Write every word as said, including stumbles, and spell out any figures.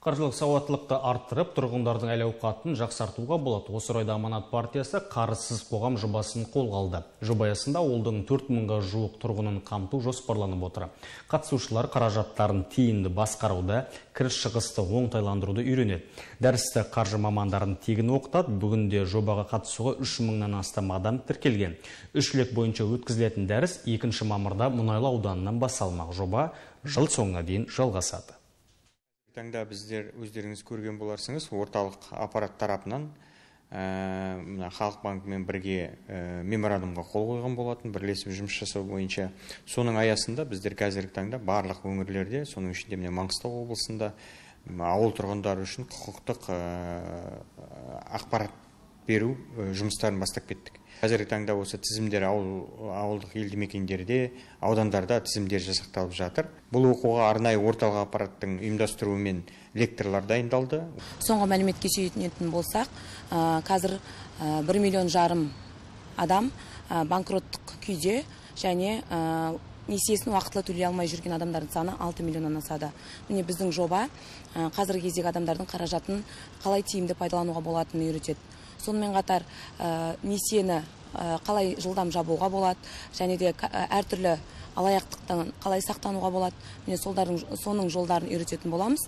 Қаржылық сауаттылықты арттырып, тұрғындардың әл-ауқатын жақсартуға болады. Осы орайда Аманат партиясы қарызсыз қоғам жобасын қолға алды. Жоба аясында ауылдың төрт мыңға жуық тұрғынын қамту жоспарланып отыр. Қатысушылар қаражаттарын тиімді басқаруды, кіріс шығысты оңтайландыруды үйренеді. Дәрісті қаржы мамандарын тегін оқытады. Бүгінде жобаға қатысуға үш мыңнан астам адам тіркелген. Үш лек бойынша өткізілетін дәріс екінші мамырда Мұнайлы ауданынан басталмақ. Жоба жыл соңына дейін жалғасады. Таңда біздер өздеріңіз көрген боларсыңыз, орталық аппарат тарапынан ә, Халық банкімен бірге ә, меморандумға қол қойған болатын, бірлесіп жұмыс жасау бойынша. Соның аясында біздер қазіргі таңда барлық өңірлерде, соның ішінде міне Маңғыстау облысында ауыл тұрғындары үшін құқықтық ә, ақпарат беру ә, жұмыстарын бастап кеттік. Қазіргі таңда осы тізімдер ауыл, ауылдық елді мекендерде, аудандарда тізімдер жасақталып жатыр. Бұл оқуға арнайы орталық аппараттың ұйымдастыруымен лекторлар дайындалды. Соңғы мәліметке сүйенетін болсақ, қазір бір миллион жарым адам банкроттық күйде және несиесін уақытылы төлей алмай жүрген адамдардың саны алты миллионнан асады. Міне біздің жоба қазіргі кездегі адамдардың қаражатын қалай тиімді пайдалануға болатынын үйретеді. Сонымен қатар несиені қалай жылдам жабуға болады, және де әртүрлі алаяқтықтан қалай сақтануға болады, міне соның жолдарын үйрететін боламыз.